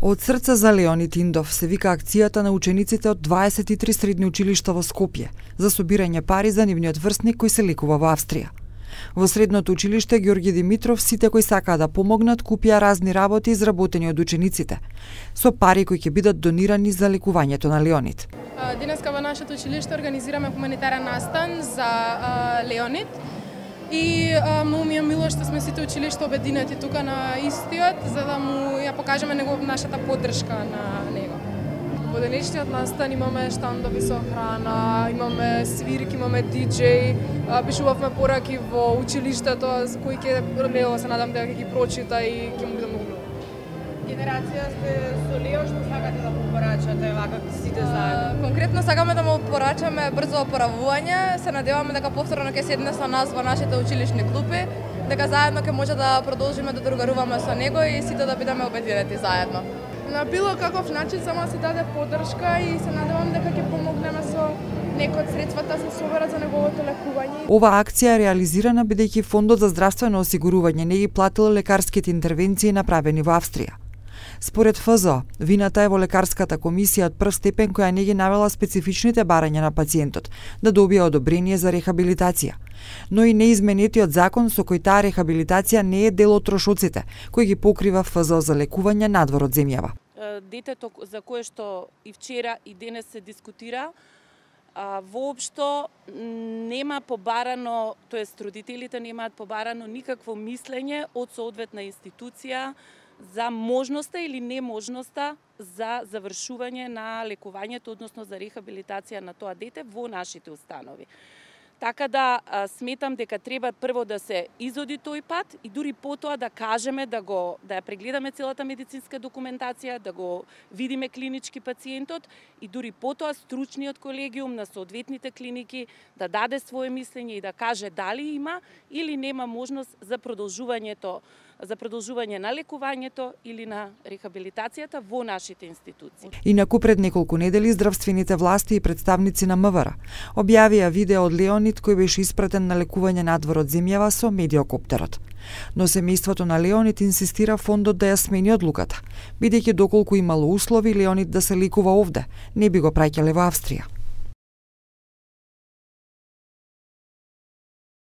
Од срце за Леонид Индов се вика акцијата на учениците од 23 средни училишта во Скопје за собирање пари за нивниот врсник кој се лекува во Австрија. Во средното училиште Ѓорги Димитров сите кои сакаа да помогнат купија разни работи изработени од учениците, со пари кои ќе бидат донирани за лекувањето на Леонид. Денеска во нашето училиште организираме хуманитарен настан за Леонид. И многу ми е мило што сме сите училишта обединети тука на истиот, за да му ја покажеме нашата поддршка на него. Во денешниот настан имаме штандови со храна, имаме свирки, имаме диџеј, пишувавме пораки во училиштето, кои ќе Лео се надам дека ќе ги прочита и ќе му биде многу. Генерација сте со Лео, што сакате да му порачате вака сите заедно? Конкретно сакаме да му порачаме брзо оправување, се надеваме дека повторно ќе седне со нас во нашите училишни клупи, дека заедно ќе може да продолжиме да другаруваме со него и сите да бидеме обединети заедно. На било каков начин само се даде поддршка и се надевам дека ќе помогнеме со некои од средствата се соберат за неговото лекување. Ова акција е реализирана бидејќи Фондот за здравствено осигурување не ги платил лекарските интервенции направени во Австрија. Според ФЗО, вината е во лекарската комисија од прв степен која не ги навела специфичните барања на пациентот да добие одобрение за рехабилитација, но и неизменетиот закон со кој таа рехабилитација не е дел од трошоците кои ги покрива ФЗО за лекување надвор од земјава. Детето за кое што и вчера и денес се дискутира, воопшто нема побарано, тоест родителите немаат побарано никакво мислење од соодветна институција за можноста или неможноста за завршување на лекувањето, односно за рехабилитација на тоа дете во нашите установи. Така да сметам дека треба прво да се изоди тој пат и дури потоа да кажеме да ја прегледаме целата медицинска документација, да го видиме клинички пациентот и дури потоа стручниот колегиум на соодветните клиники да даде свое мислење и да каже дали има или нема можност за продолжување на лекувањето или на рехабилитацијата во нашите институции. Инаку пред неколку недели здравствените власти и представници на МВР објавија видео од Леонид кој беше испратен на лекување надвор од земјава со медиокоптерот. Но семејството на Леонид инсистира фондот да ја смени одлуката, бидејќи доколку имало услови Леонид да се лекува овде, не би го праќале во Австрија.